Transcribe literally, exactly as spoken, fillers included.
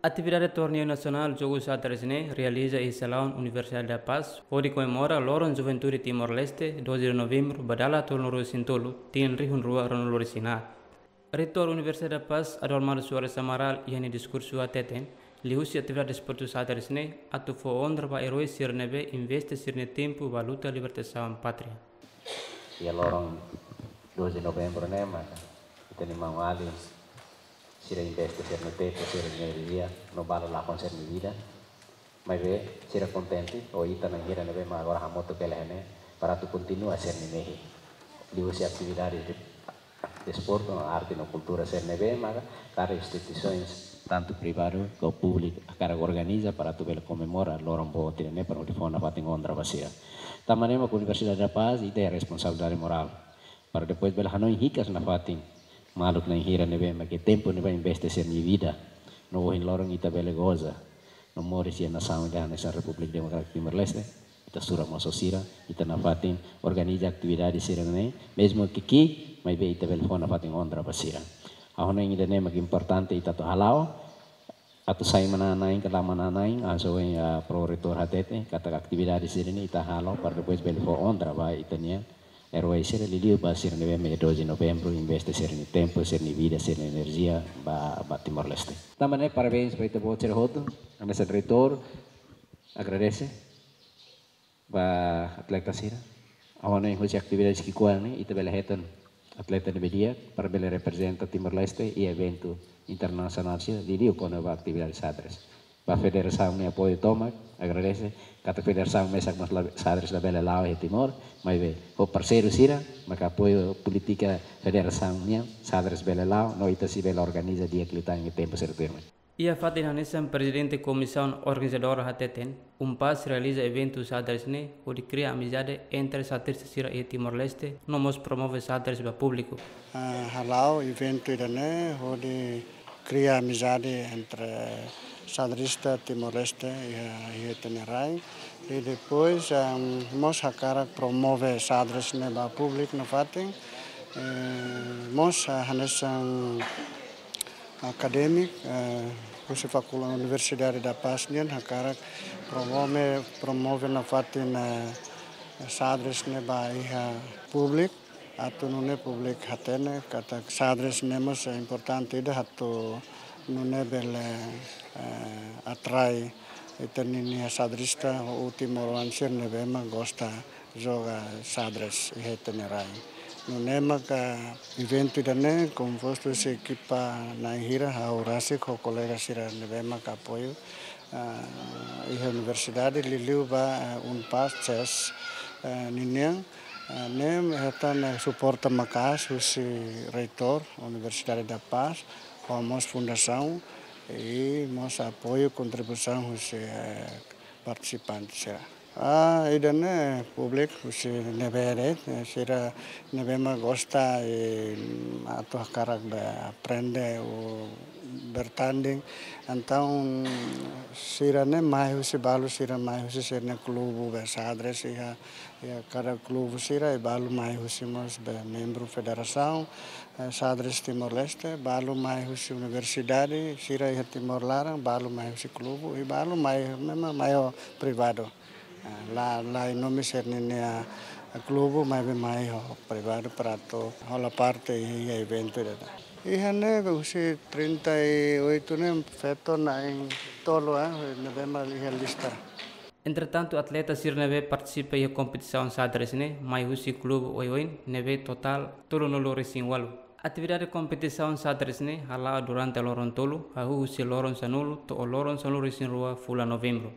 Atividade Torneiu Nasionál Jogu Xadrez ne'e realiza iha salaun Universidade da Paz, hodi komemora Loron Juventude Timor-Leste, doze de novembru, ba dala tolunulu-resin-tolu, tinan rihun rua ruanulu-resin-haat. Reitór Universidade da Paz, Adalmar Soares Amaral, iha nia diskursu hateten, liuhusi atividade desportu xadrez ne'e, atu fó onra ba erói sira ne'ebé investe sira-nia tempu ba luta libertasaun pátria. Iha loron doze de novembru ne'e maka ita-nia maun-alin sira investe sira-nia tempu, sira-nia enerjia, no balu lakon sira-nia vida. Maibé sira kontente ho ita na'in hira ne'ebé mak agora hamutuk hela iha ne'e para atu kontinua sira-nia mehi. Liuhusi atividade de desportu, no arte no kultura sira ne'ebé maka kada instituisaun, tantu privadu ka públiku, hakarak organiza para atu bele komemora loron boot ida-ne'e para atu fó nafatin onra ba sira. Tanba ne'e mak Universidade da Paz ita iha responsabilidade morál para depois bele hanoin hikas nafatin maluk na'in hira ne'ebé mak iha tempu ne'ebá investe sira-nia vida, no ohin loron ita bele goza no moris iha nasaun ida hanesan Repúblika Demokrátika Timor-Leste. Ita sura mós ho sira, ita nafatin organiza atividade sira-ne'e, mezmu ki'ik, maibé ita bele fó nafatin onra ba sira. Ha'u hanoin ida-ne'e mak importante ita atu hala'o, atu sai manán-na'in ka la manán-na'in, hanesan ohin, ah, pró-reitór hatete, katak atividade sira-ne'e ita halo para depois bele fó onra ba ita-nia erói sira, liuliu ba sira ne'ebé mak iha doze de novembru investe sira-nia tempu, sira-nia vida, sira-nia enerjia ba, ba Timor-Leste. Tanba ne'e parabéns ba ita-boot sira hotu, hanesan reitór, agradese ba atleta sira. Ha'u hanoin husi atividade ki'ikoan ne'e, ita bele hetan atleta ne'ebé di'ak para bele reprezenta Timor-Leste iha eventu internasionál sira, liuliu kona-ba atividade xadrez. Ba federasaun nia apoiu tomak, agradese, katak federasaun mesak mós la, xadrez labele la'o iha Timor, maibé ho parseiru sira maka apoiu polítika federasaun nian, xadrez bele la'o, no ita sei bele organiza di'ak liután iha tempu sira tuirmai. Iha fatin hanesan, prezidente komisaun organizadora hateten, UNPAZ realiza eventu xadrez ne'e hodi kria amizade entre xadrezista sira iha Timor-Leste, no mós promove xadrez ba públiku. Ah, hala'o eventu ida-ne'e hodi kria amizade entre xadrezista Timor-Leste iha, iha ita-nia rai. I depois, ah, mós hakarak promove xadrez ne'e ba públiku nafatin. Eh, mós, ah, hanesan akadémiku, eh, husi Fakuldade Universidade da Paz nian hakarak promove, promove nafatin, eh, xadrez ne'e ba iha públiku, atu nune'e públiku hatene katak xadrez ne'e mós importante ida atu nune'e bele, eh, atrai ita-nia xadrezista ho timoroan sira ne'ebé mak gosta joga xadrez iha ita-nia rai. Nune'e maka eventu ida-ne'e kompostu husi ekipa na'in hira, ha'u rasik ho kolega sira ne'ebé maka apoiu, ah, iha universidade, liuliu ba, ah, UNPAZ chess, ah, ninian, ah, ne'e hetan, eh, suporta maka'as husi reitór Universidade da Paz, ho mós fundasaun, i mós apoiu kontribuisaun husi, eh, partisipante sira. Ah, ida-ne'e públiku husi ne'ebé de'it, eh, sira ne'ebé mak gosta, eh, atu hakarak be aprende ou bertanding. Entaun, sira ne'e mai husi, balu sira mai husi sira-nia klubu be xadrez iha, iha kada klubu sira, i balu mai husi mós be membru federasaun, eh, xadrez Timor-Leste, balu mai husi universidade sira iha Timor laran, balu mai husi klubu, i balu mai, memang mai ho privadu. Eh, la, la iha nome sira-nia, eh, klubu, maibé mai ho privadu para atu hola parte iha eventu ida-ne'e. Iha ne'e husi trinta e oito ne'e feto na'in-tolu, eh, ne'ebé mak iha lista. Entretantu, atleta sira ne'ebé partisipa iha kompetisaun xadrez ne'e mai husi klubu oioin ne'ebé totál tolunulu-resin-ualu. Atividade kompetisaun xadrez ne'e hala'o durante loron tolu, hahú husi loron sanulu to'o loron sanulu-resin-rua fulan Novembru.